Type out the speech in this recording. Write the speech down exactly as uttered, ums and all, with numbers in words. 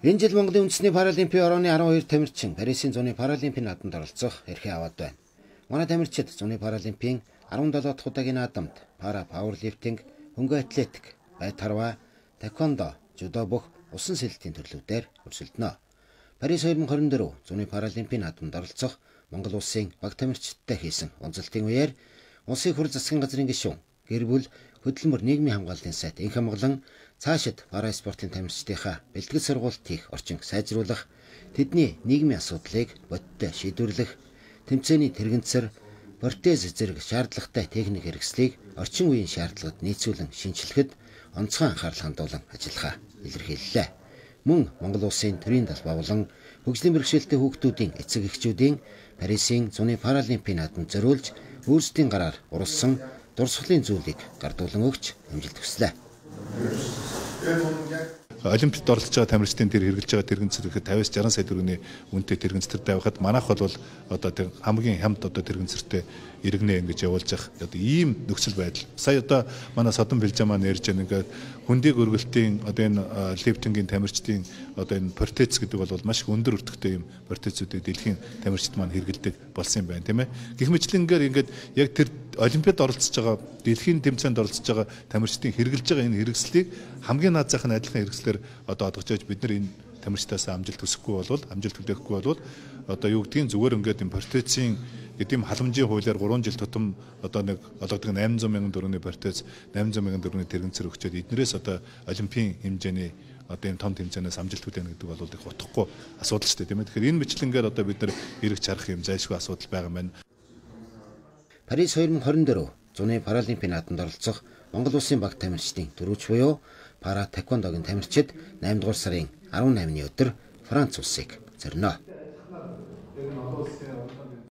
Энэ жил Монголын үндэсний паралимпийн орооны арван хоёр тамирчин Парисын зуны паралимпийн наадамд оролцох эрхээ аваад байна. Манай тамирчид зуны паралимпийн арван долоо дахь удаагийн наадамд пара пауэрлифтинг, хөнгө атлетик, байд харва, таеквондо, жудо бүх усан сэлэлтийн төрлүүдээр өрсөлдөнө. Парис две тысячи двадцать четыре зуны паралимпийн наадамд оролцох Монгол улсын баг тамирчидтай хийсэн уулзалтын үеэр улсын хурал засгийн газрын гишүүн, гэр бүл, хөдөлмөр нийгмийн хамгааллын сайд энх амгалан цаашид пара спортын тамирчдынхаа бэлтгэл сургалт хийх орчин сайжруулах, тэдний нийгмийн асуудлыг бодиттой шийдвэрлэх, тэмцээний тэрэгэнцэр, протез зэрэг шаардлагатай техник хэрэгслийг орчин үеийн шаардлагад нийцүүлэн шинжилэхэд онцгой анхаарал хандуулан ажиллахаа илэрхийллээ. Мөн Монгол улсын төрийн талбай болон хөгжлийн бэрхшээлтэй хүүхдүүдийн эцэг эхчүүдийн Парисын зуны паралимпийн наадамд зориулж өөрсдийн гараар уралсан дурсгалын зүйлийг гардуулан өгч амжилт хүслээ. Олимпиад оролцож байгаа тамирчдын тэр хэрэгжилж байгаа тэрэгэнцэр ихэд пятьдесят шестьдесят сая төгрөгийн үнэтэй тэрэгэнцэр тавихад манайх бол одоо тэр хамгийн хямд одоо тэрэгэнцэртэй иргэнэ ингэж явуулж явах одоо ийм нөхцөл байдал. Сая одоо манай Содон Билжаа маань ярьж байгаа ингээд хөндийг өргөлтийн одоо энэ лифтингийн тамирчдын одоо энэ протез гэдэг бол маш их өндөр өртөгтэй юм протезүүдийг дэлхийн тамирчид маань хэрэгэлдэг болсон юм байна тийм ээ. Гэх мэтлэнгээр ингээд яг тэр Олимпиад оролцож байгаа дэлхийн тэмцээнд оролцож байгаа тамирчдын хэрэгжилж байгаа энэ хэрэгслийг хамгийн наад зах нь адилхан хэрэгслээр одоо одгож явж бид нар энэ тамирчдаас амжилт хүсэхгүй болвол амжилт хүлээхгүй болвол одоо юу гэдгийг зүгээр ингээд энэ протезийн гэдэм халамжийн хуулиар гурван жил тутам одоо нэг олгодог восемь сто мянган төгрөгийн протез восемь сто мянган төгрөгийн тэрэгэнцэр өгчөөд эднэрээс одоо олимпийн хэмжээний одоо энэ том тэмцээнээс амжилт хүлээнэ гэдэг бол их утгагүй асуудал шүү дээ тийм ээ. Тэгэхээр энэ мэтлэнгээр одоо бид нар эргэж харах юм зайлшгүй асуудал байгаа юм байна. Парис две тысячи двадцать четыре зуны паралимпийн наадамд оролцох Монгол улсын баг тамирчдын дөрвөж буюу пара таеквондогийн тамирчид eight дугаар сарын арван наймны өдөр Франц улсыг зорино.